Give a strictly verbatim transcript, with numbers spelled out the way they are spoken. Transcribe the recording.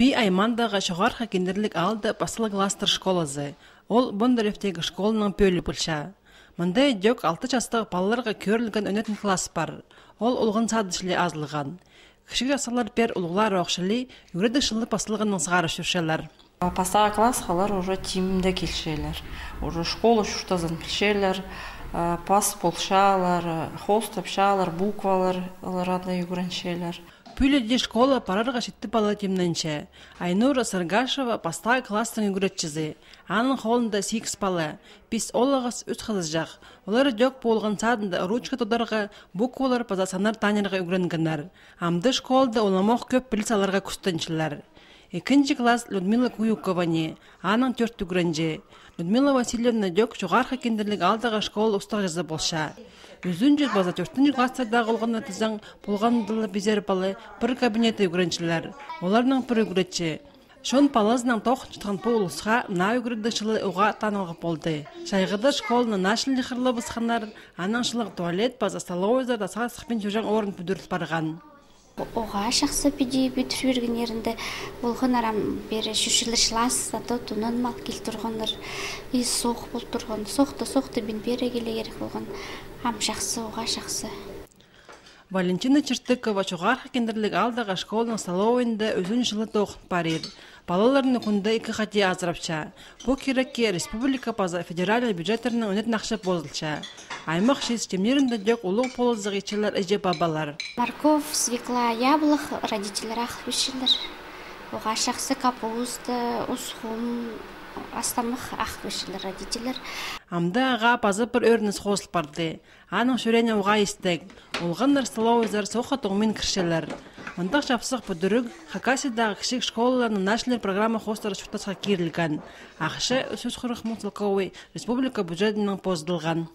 Пии аймағындағы Чоғархы Киндірлік аалда пастағы класстар школазы. Ол Бондаревтегі школаның пӧлии полча. Мында ідӧк алты частығ палаларға кӧрілген ӧнетін класс пар. Ол олған садыш ле азылған. Кічіг частығлар пеер улуғлар ох чіли ӱгредіг чылы пасталғаннаң сығара чӧрчелер. Пастағы классха олар уже тимде килчелер. Уже школа чуртазын пілчелер, пас полчалар, хоостапчалар, буквалар олар анда ӱгренчелер. Пӱӱл дее школа парарға читі пала тимненче. Айнура Саргашева пастағы класстың ӱгретчізі. Аның холында сигіс пала, пис оолағас, ӱс хызыҷах. Олар ідӧк пу олған садында ручка тударға, буквалар паза саннар таныарға ӱгренгеннер. Амды школада уламох кӧп піліс аларға кӱстенчелер. Ікінҷі класс Людмила Куюкова ни, аның тӧрт ӱгренҷі. Людмила Васильевна ідӧк Чоғархы Киндірлік аалдағы школа устағҷызы полча. Ӱзінҷі паза тӧртінҷі класстардағы олғанны тізең, полғанда ла пизер пала пір кабинетте ӱгренчелер. Оларның пір ӱгретчі. Чон палазынаң тоғынчатхан пу улусха наа ӱгредіг чылы уғаа танығлығ полды. Чайғыда школаны наа чіли хырлабысханнар, анаң чылығ туалет паза столовойзар тасха сыхпин чӧрҷең орын пӱдіріл парған. Уғаа чахсы піди пӱдір пиргеннерінде. Полғаннар ам пеер чӧрчелер чылаазынаң, то тонанмал кил турғаннар. И соох пол турған. Соохта, соохта пин пеер килерге кирек полған. Ам чахсы, уғаа чахсы. Валентина Чертыкова Чоғархы Киндірлік аалдағы школаның столовайында ӱзінҷі чылы тоғын парир. Палаларны кӱнде ікі хати азырапча. Пу кирекке республика паза федеральный бюджеттернең ӧнетін ахча позылча. Аймах чиис тимнерінде ідӧк улуғ полызығ итчелер іҷе-пабалар. Морковь, свекла, яблох родительлер ағыл пирчелер. Уғаа чахсы капуста, усхум, астамах ағыл пирчелер родительлер. Амды ағаа паза пір ӧрініс хозыл парды. Аның чӱреене уғаа истіг. Олғаннар столовойзар соохха тоңмин кірчелер. Мындағ чапсых пӱдіріг Хакасиядағы кічіг школаларны наа чіли программа хоостыра чуртасха кирілген. Ахча, ӱс чӱс хырых муң целковай, республика бюджетінең позыдылған.